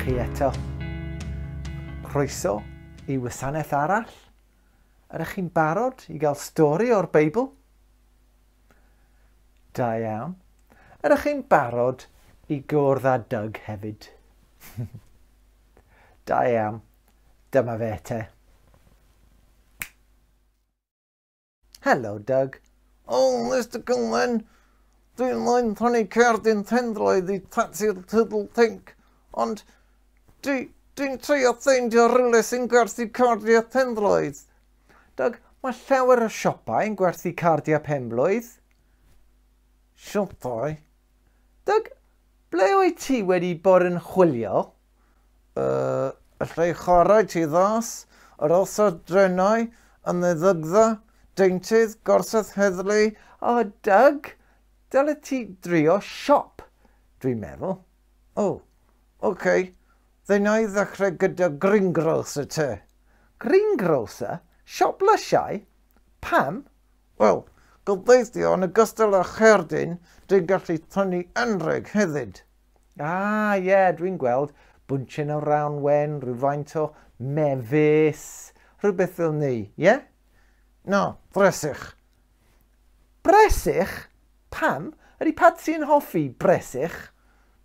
chi eto. Croeso i wasanaeth arall. Ydych chi'n barod i gael stori o'r Beibl? Da iawn. Ydych chi'n barod i gwrdd â Doug hefyd? Da iawn. Dyma fe te. Helo, Doug. O, Mr Cullen, dwi'n moyn prynu cerdyn pendroedd i Patsi'r Tiddle Tink, ond dwi, dwi'n trio ffeindio rhywle sy'n gwerthu cardiau pendroedd. Doug, mae llawer o siopau yn gwerthu cardiau penblwydd. Siopau? Doug, ble wyt ti wedi bod yn chwilio? Y lle chwarae tu fas, yr orsaf drenau, y meddygfa, deintydd, gorsaf heddlu. O, Doug, dyle ti drio siop, dwi'n meddwl. O, oce. Fe wna i ddechrau gyda greengrocer te. Greengrocer? Siop lysiau? Pam? Wel, gobeithio yn ogystal â cherdyn, dwi'n gallu prynu anrheg hefyd. Ah, ie, yeah, dwi'n gweld. Bwntyn o rawn wen, rhywfaint o mefus, rhywbeth fel ni, ie? Yeah? Na, bresych. Bresych? Pam? Ydy Patsy yn hoffi bresych?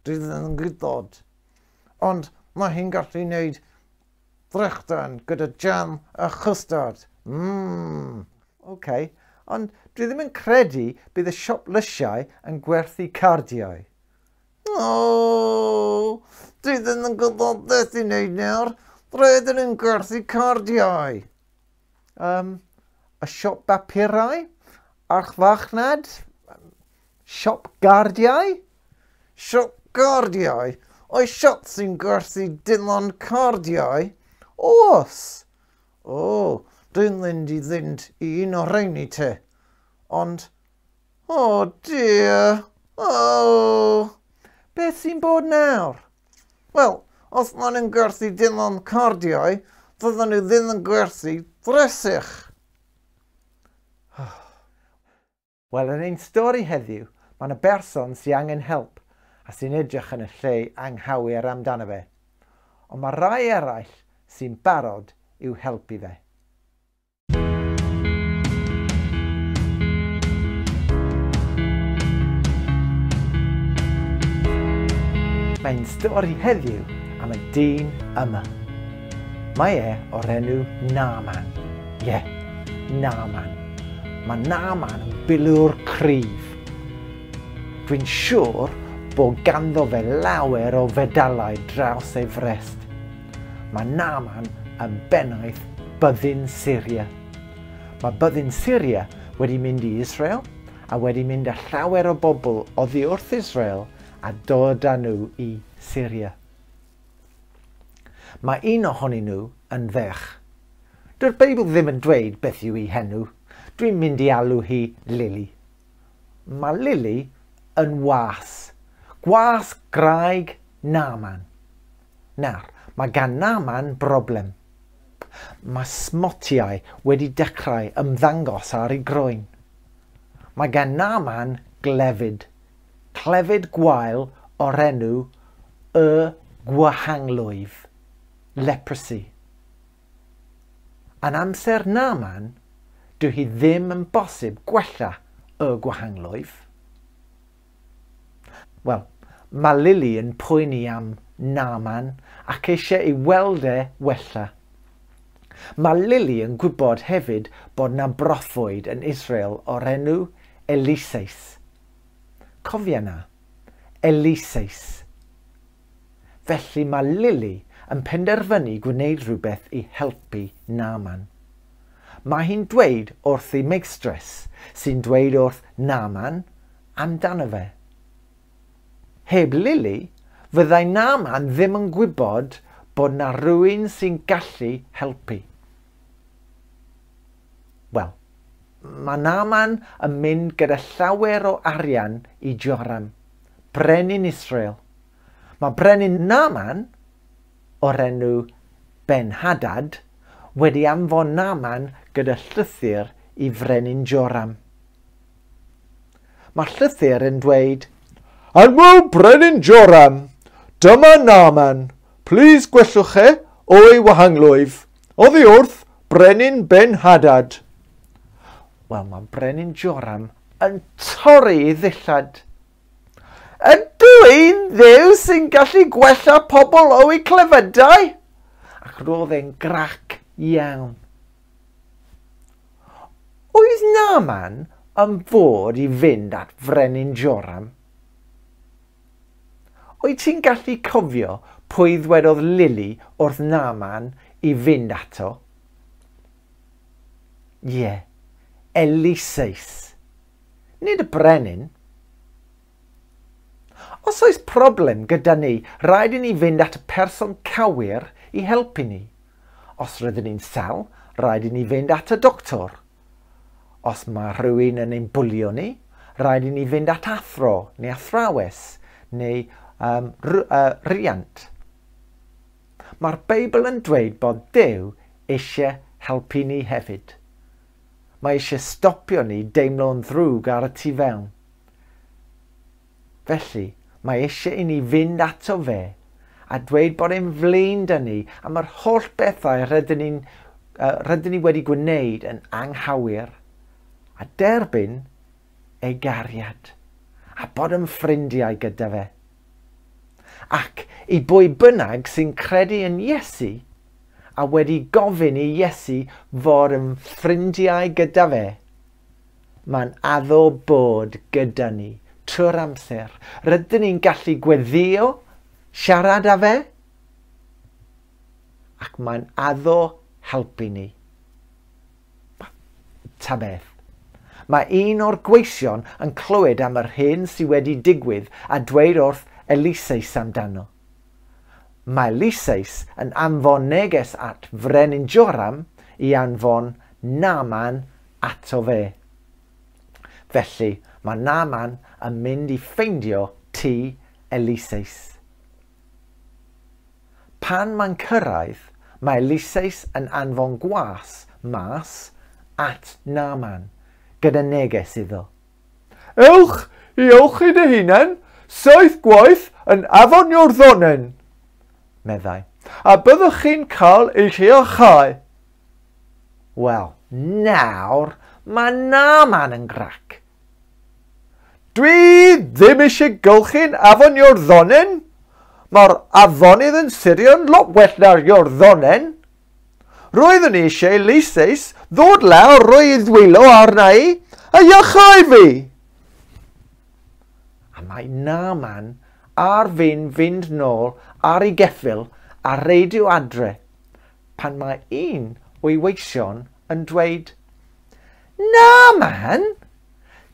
Dwi ddim yn gwybod. Ond mae hi'n gallu gwneud brechdan gyda jam a chwstard. Mmm. OK, ond dwi ddim yn credu bydd y siop lysiau yn gwerthu cardiau. O, dwi ddim yn gwybod beth i wneud nawr. Rydyn nhw'n gwerthu cardiau. Y siop bapurau? Archfarchnad? Siop gardiau? Siop gardiau? Oes siop sy'n gwerthu dim ond cardiau? Oes! O, dwi'n mynd i fynd i un o'r rheini te. Ond, o dear, o! Beth sy'n bod nawr? Wel, os maen nhw'n gwerthu dim ond cardiau, fyddan nhw ddim yn gwerthu bresych. Wel, yn ein stori heddiw, mae yna berson sy'n angen help a sy'n edrych yn y lle anghywir amdano fe. Ond mae rai eraill sy'n barod i'w helpu fe. Mae'n stori heddiw am y dyn yma. Mae e o'r enw Naaman. Ie, yeah, Naaman. Mae Naaman yn bilwr cryf. Dwi'n siŵr bod ganddo fe lawer o fedalau draws ei frest. Mae Naaman yn bennaeth byddin Syria. Mae byddin Syria wedi mynd i Israel a wedi mynd â llawer o bobl oddi wrth Israel a dod â nhw i Syria. Mae un ohonyn nhw yn ferch. Dyw'r Beibl ddim yn dweud beth yw ei henw. Dwi'n mynd i alw hi Lily. Mae Lily yn was. Gwas graig Naaman. Nawr, mae gan Naaman broblem. Mae smotiau wedi dechrau ymddangos ar ei groen. Mae gan Naaman glefyd. Clefyd gwael o'r enw y gwahanglwyf, leprosy. Yn amser Naaman, dyw hi ddim yn bosib gwella y gwahanglwyf. Wel, mae Lily yn poeni am Naaman ac eisiau ei weld e wella. Mae Lily yn gwybod hefyd bod na broffwyd yn Israel o'r enw Eliseus. Cofia na, Eliseus. Felly mae Lily yn penderfynu gwneud rhywbeth i helpu Naaman. Mae hi'n dweud wrth ei meistress, sy'n dweud wrth Naaman amdano fe. Heb Lily, fyddai Naaman ddim yn gwybod bod na rhywun sy'n gallu helpu. Wel, mae Naaman yn mynd gyda llawer o arian i Joram, brenin Israel. Mae brenin Naaman, o'r enw Ben-Hadad, wedi anfon Naaman gyda llythyr i frenin Joram. Mae llythyr yn dweud, Annwyl brenin Joram, dyma Naaman, Plis gwellwch e o'i wahanglwyf, oddi wrth Brenin Ben-Hadad. Wel, mae Brenin Joram yn torri ei ddillad. Ydw i'n Dduw sy'n gallu gwella pobl o'u clefydau? Ac roedd e'n grac iawn. Oedd Naaman yn fod i fynd at Frenin Joram? Wyt ti'n gallu cofio pwy ddwedodd Lily wrth Naaman i fynd ato? Ie, Eliseus. Nid y brenin. Os oes problem gyda ni, rhaid i ni fynd at y person cywir i helpu ni. Os rydyn ni'n sal, rhaid i ni fynd at y doctor. Os mae rhywun yn ein bwlio ni, rhaid i ni fynd at athro neu athrawes neu riant. Mae'r Beibl yn dweud bod Duw eisiau helpu ni hefyd. Mae eisiau stopio ni deimlo'n ddrwg ar y tu fewn. Felly, mae eisiau i ni fynd ato fe a dweud bod e'n flin 'da ni am yr holl bethau rydyn ni wedi gwneud yn anghywir a derbyn ei gariad a bod yn ffrindiau gyda fe. Ac i bwy bynnag sy'n credu yn Iesu a wedi gofyn i Iesu fod yn ffrindiau gyda fe, mae'n addo bod gyda ni trwy'r amser. Rydyn ni'n gallu gweddio, siarad â fe, ac mae'n addo helpu ni. Ta beth. Mae un o'r gweision yn clywed am yr hyn sydd wedi digwydd a dweud wrth Eliseus amdano. Mae Eliseus yn anfon neges at Frenin Joram i anfon Naaman ato fe. Felly mae Naaman yn mynd i ffeindio tŷ Eliseus. Pan mae'n cyrraedd, mae Eliseus yn anfon gwas mas at Naaman gyda neges iddo. Ewch i olchi dy hunan 7 gwaith yn afon Iorddonen, meddai, a byddwch chi'n cael eich iachau. Wel, nawr mae Naaman yn grac. Dwi ddim eisiau golchi'n afon Iorddonen. Mae'r afonydd yn Syrio'n lot well na'r Iorddonen. Roeddwn i eisiau Eliseus ddod lawr roi ei ddwylo arna i a iachau fi. A mae Naaman ar fin fynd nôl ar ei geffyl a reidio adre pan mae un o'i weision yn dweud, Naaman,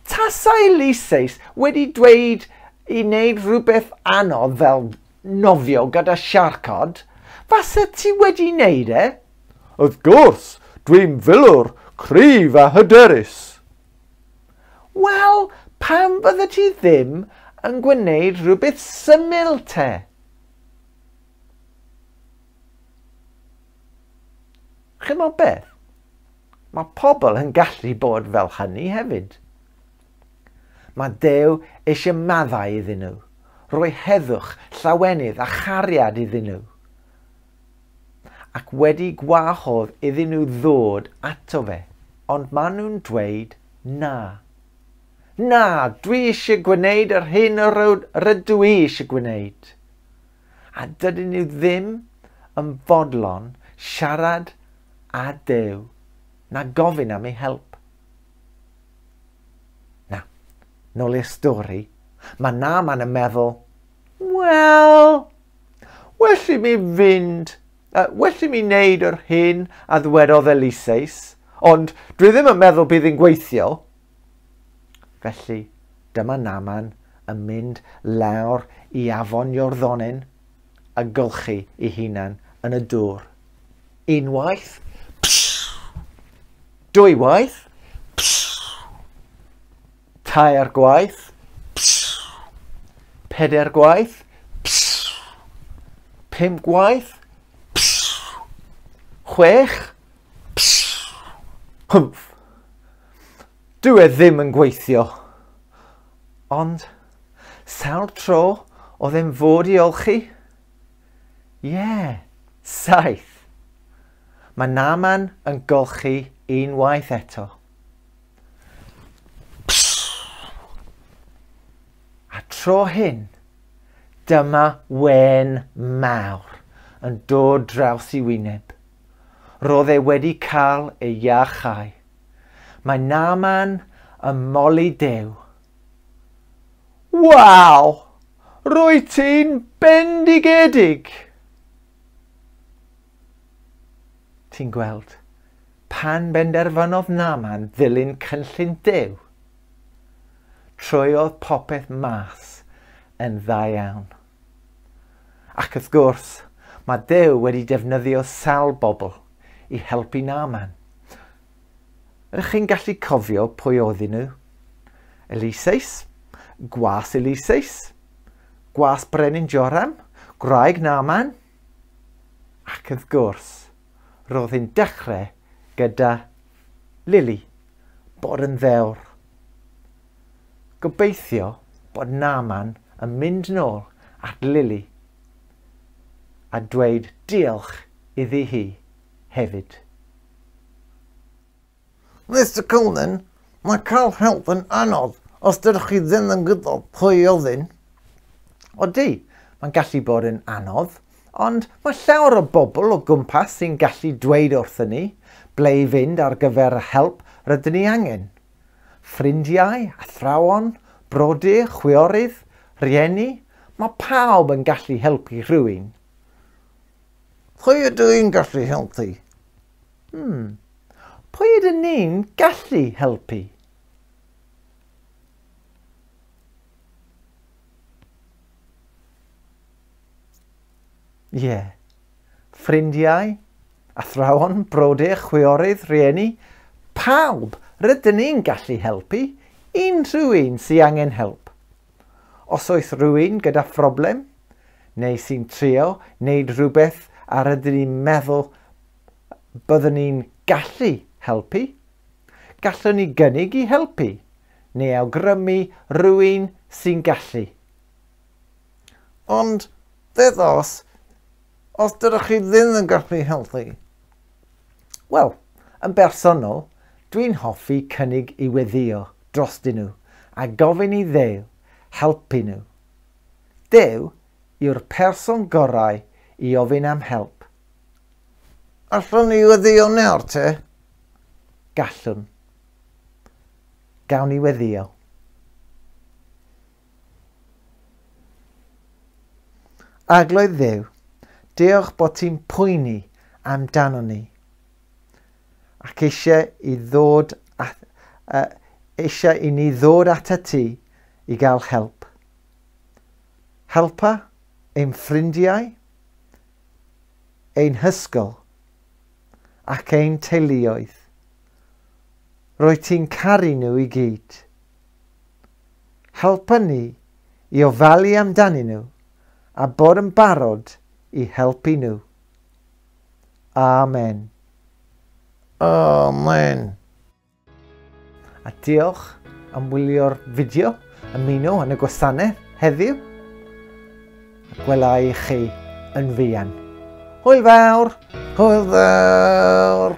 tasai Eliseus wedi dweud i wneud rhywbeth anodd fel nofio gyda siarcod, fasa ti wedi wneud e? Wrth gwrs, dwi'n filwr cryf a hyderus. Wel, pam fydde ti ddim yn gwneud rhywbeth syml te? Chimod beth? Mae pobl yn gallu bod fel hynny hefyd. Mae Duw eisiau maddau iddyn nhw, rhoi heddwch, llawenydd a chariad iddyn nhw, ac wedi gwahodd iddyn nhw ddod ato fe, ond maen nhw'n dweud na. Na, dwi eisiau gwneud yr hyn rydw i eisiau gwneud. A dydyn nhw ddim yn fodlon siarad â Duw na gofyn am ei help. Na, nôl i'r stori, mae Naaman yn meddwl, wel, well i mi fynd, well i mi wneud yr hyn a ddwedodd Eliseus, ond dwi ddim yn meddwl bydd hi'n gweithio. Felly, dyma Naaman yn mynd lawr i afon Iorddonen a golchi ei hunan yn y dŵr. Unwaith, dwywaith, tair gwaith, pedair gwaith, 5 gwaith, 6, hwmff. Dyw e ddim yn gweithio. Ond, sawl tro oedd e'n fod i olchi? Ie, 7. Mae Naaman yn golchi unwaith eto. A tro hyn, dyma wên mawr yn dod draws i wyneb. Roedd e wedi cael ei iachau. Mae Naaman yn moli Duw. Waw! Rwyt ti'n bendigedig! Ti'n gweld, pan benderfynodd Naaman ddilyn cynllun Duw, troiodd popeth mas yn dda iawn. Ac wrth gwrs, mae Duw wedi defnyddio sawl bobl i helpu Naaman. Ydych chi'n gallu cofio pwy oedden nhw? Eliseus, gwas Eliseus, gwas Brenin Joram, gwraig Naaman. Ac wrth gwrs, roedd hi'n dechrau gyda Lily, bod yn ddewr. Gobeithio bod Naaman yn mynd nôl at Lily a dweud diolch iddi hi hefyd. Mr Cullen, mae cael help yn anodd os dydych chi ddim yn gwybod pwy i ofyn. Odi, mae'n gallu bod yn anodd, ond mae llawer o bobl o gwmpas sy'n gallu dweud wrthyn ni ble i fynd ar gyfer y help rydyn ni angen. Ffrindiau, athrawon, brodyr, chwiorydd, rhieni, mae pawb yn gallu helpu rhywun. Pwy ydw i'n gallu helpu? Pwy ydyn ni'n gallu helpu? Ie. Ffrindiau, athrawon, brodyr, chwiorydd, rhieni, pawb rydyn ni'n gallu helpu unrhyw un sy'n angen help. Os oes rhywun gyda phroblem, neu sy'n trio wneud rhywbeth a rydyn ni'n meddwl byddwn ni'n gallu helpu, gallwn ni gynnig i helpu, neu awgrymu rhywun sy'n gallu. Ond beth os dydych chi ddim yn gallu helpu? Wel, yn bersonol, dwi'n hoffi cynnig i weddïo drostyn nhw a gofyn i Dduw helpu nhw. Duw yw'r person gorau i ofyn am help. Allwn ni weddïo nawr te? Gallwn. Gawn ni weddïo. Arglwydd Dduw, diolch bod ti'n poeni amdano ni ac eisiau i ni ddod atat ti i gael help. Helpa ein ffrindiau, ein hysgol ac ein teuluoedd. Rwyt ti'n caru nhw i gyd. Helpa ni i ofalu amdanyn nhw a bod yn barod i helpu nhw. Amen. Amen. A diolch am wylio'r fideo, ymuno yn y gwasanaeth heddiw. A gwela i chi yn fuan. Hwyl fawr! Hwyl fawr!